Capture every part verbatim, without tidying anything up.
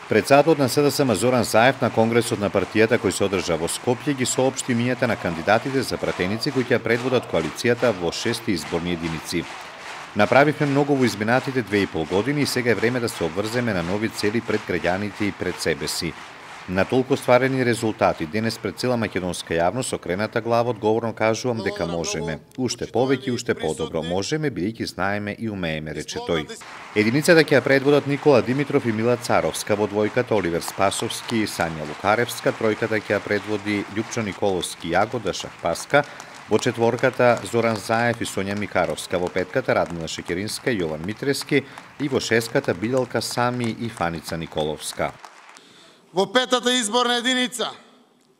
Председателот на СДСМ Зоран Заев на конгресот на партијата кој се одржа во Скопје ги соопшти имињата на кандидатите за пратеници кои ќе предводат коалицијата во шести изборни единици. Направивме многу во изминатите две и пол години и сега е време да се обврземе на нови цели пред граѓаните и пред себе си. На толку остварени резултати, денес пред цела македонска јавност окрената глава одговорно кажувам дека можеме. Уште повеќе и уште подобро можеме, бидејќи знаеме и умееме, рече тој. Единицата ќе ја предводат Никола Димитров и Мила Царовска, во двојката Оливер Спасовски и Сања Лукаревска, тројката ќе ја предводи Љупчо Николовски и Јагода Шахпаска, во четворката Зоран Заев и Сонја Микаровска, во петката Радмила Шекеринска и Јован Митрески и во шестката Биделка Сами и Фаница Николовска. Во петата изборна единица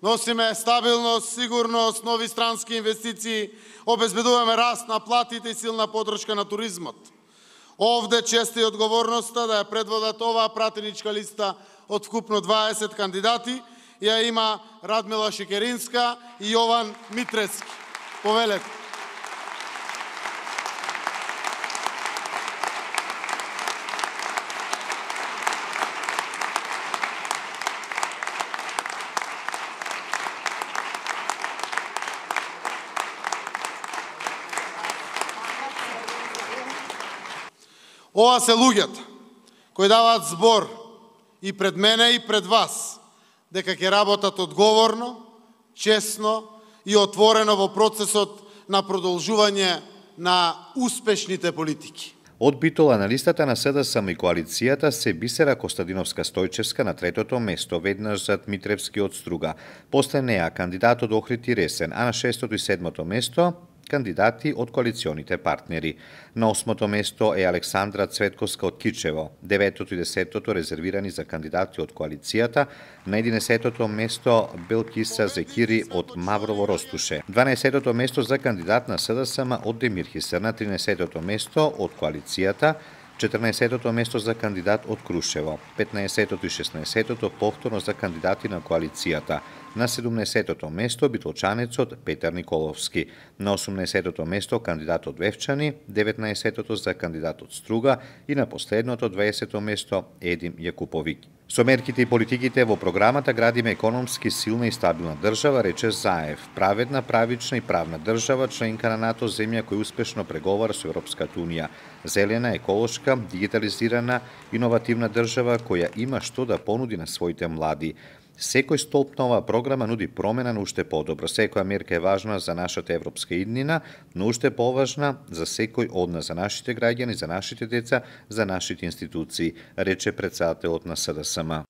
носиме стабилност, сигурност, нови странски инвестиции, обезбедуваме раст на платите и силна подршка на туризмот. Овде честа и одговорноста да ја предводат оваа пратеничка листа од вкупно дваесет кандидати, ја има Радмила Шекеринска и Јован Митрески. Повелете. Ова се луѓето кои даваат збор и пред мене и пред вас дека ќе работат одговорно, честно и отворено во процесот на продолжување на успешните политики. Од Битола на листата на СДСМ и коалицијата се Бисера Костадиновска-Стојчевска на третото место, веднаш зад Митревски од Струга. После неа кандидатот Охрид Ресен, а на шестото и седмото место кандидати од коалиционите партнери. На осмото место е Александра Цветковска од Кичево, деветото и десетото резервирани за кандидати од коалицијата, на единесетото место Белкиса Зекири од Маврово Ростуше, дванаесетото место за кандидат на СДСМ од Демир Хисер, на тринесетото место од коалицијата, четрнаесетото место за кандидат од Крушево, петнаесетото и шеснаесетото повторно за кандидати на коалицијата, на седумнаесетото место битолчанецот Петар Николовски, на осумнаесетото место кандидат од Вевчани, деветнаесетото за кандидат од Струга и на последното дваесето место Едим Јакуповиќ. Со мерките и политиките во програмата градиме економски силна и стабилна држава, рече Заев, праведна, правична и правна држава, членка на НАТО, земја која успешно преговара со Европската унија, зелена, еколошка, дигитализирана, иновативна држава која има што да понуди на своите млади. Секој столб на оваа програма нуди промена на уште подобро. Секоја мерка е важна за нашата европска иднина, но уште поважна за секој од нас, за нашите граѓани, за нашите деца, за нашите институции, рече председателот на СДСМ.